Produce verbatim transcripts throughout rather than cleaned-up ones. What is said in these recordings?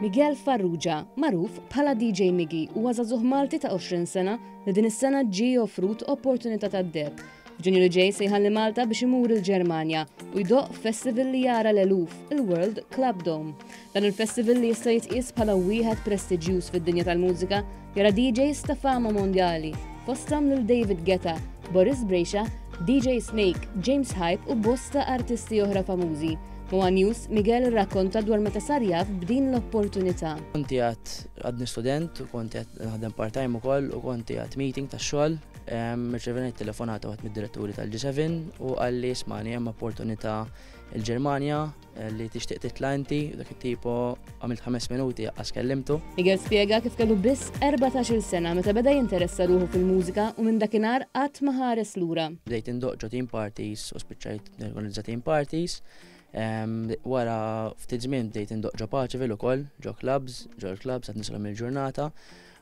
Miguel Farrugia, magħruf bħala D J Miggy, huwa żagħżugħ Malti ta' għoxrin sena li din is-sena ġie offrut opportunità tad-deheb. F'Ġunju li ġej se jħalli Malta biex imur il-Ġermanja u jdoqq festival li jara l-eluf, il-World Club Dome. Dan il-festival, li jista' jitqies bħala wieħed prestiġjuż fid-dinja tal-mużika, jara D Js ta' fama mondjali, fosthom lil David Guetta, Boris Brejcha, D J Snake, James Hype u bosta artisti oħra famużi. Ma' News, Miguel rrakkonta dwar meta sar jaf b'din l-opportunità. Kont għad għadni student u kont għad naħdem part-time ukoll u kont għad meeting ta' xogħol. Rċevejt telefonata waħda mid-diretturi tal-G seba u qalli, "Ismagħni, hemm opportunità il-Ġermanja eh, li tixtieq titla' inti." Dak it-tipo għamilt ħames minuti għax kellimtu. Miguel spjega kif kellu biss erbatax-il sena meta beda jinteressa ruħu fil-mużika u minn dakinhar qatt ma ħares lura. Bdejt indoqq ġo theme parties u spiċċajt norganizza theme parties. Wara ftit żmien bdejt indoqq ġo Paceville ukoll, ġo clubs, ġo clubs għad nisilhom il-ġurnata.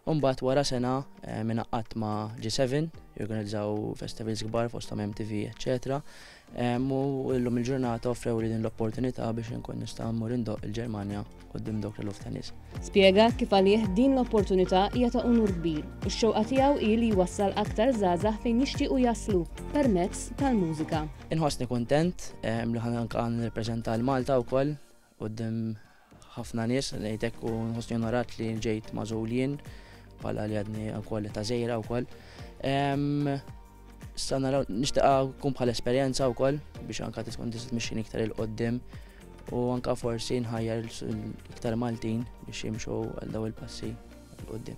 U mbagħad wara sena ingħaqadt ma' G seba jorganizzaw festivals kbar fosthom M T V, eċċetera. U llum il-ġurnata offrew li din l-opportunità biex inkun nista' mmur indoqq il-Ġermanja quddiem dawk l-eluf ta' nies. Spjega kif għalih din l-opportunità hija ta' unur kbir u x-xewqa tiegħu hi li jwassal aktar żgħażagħ fejn jixtiequ jaslu permezz tal-mużika. Inħossni kuntent li ħa anka nirrepreżenta l-Malta wkoll quddiem ħafna nies ngħidlek u nħossni onorat li ġejt magħżul jien bħala li għadni wkoll ta' żgħira wkoll. Issa naraw, nixtieq tkun bħala esperjenza wkoll biex anka tkun tista' tmexxini iktar 'il quddiem u anka forsi nħajjar iktar Maltin biex jimxu għal daw il-passi 'l quddiem.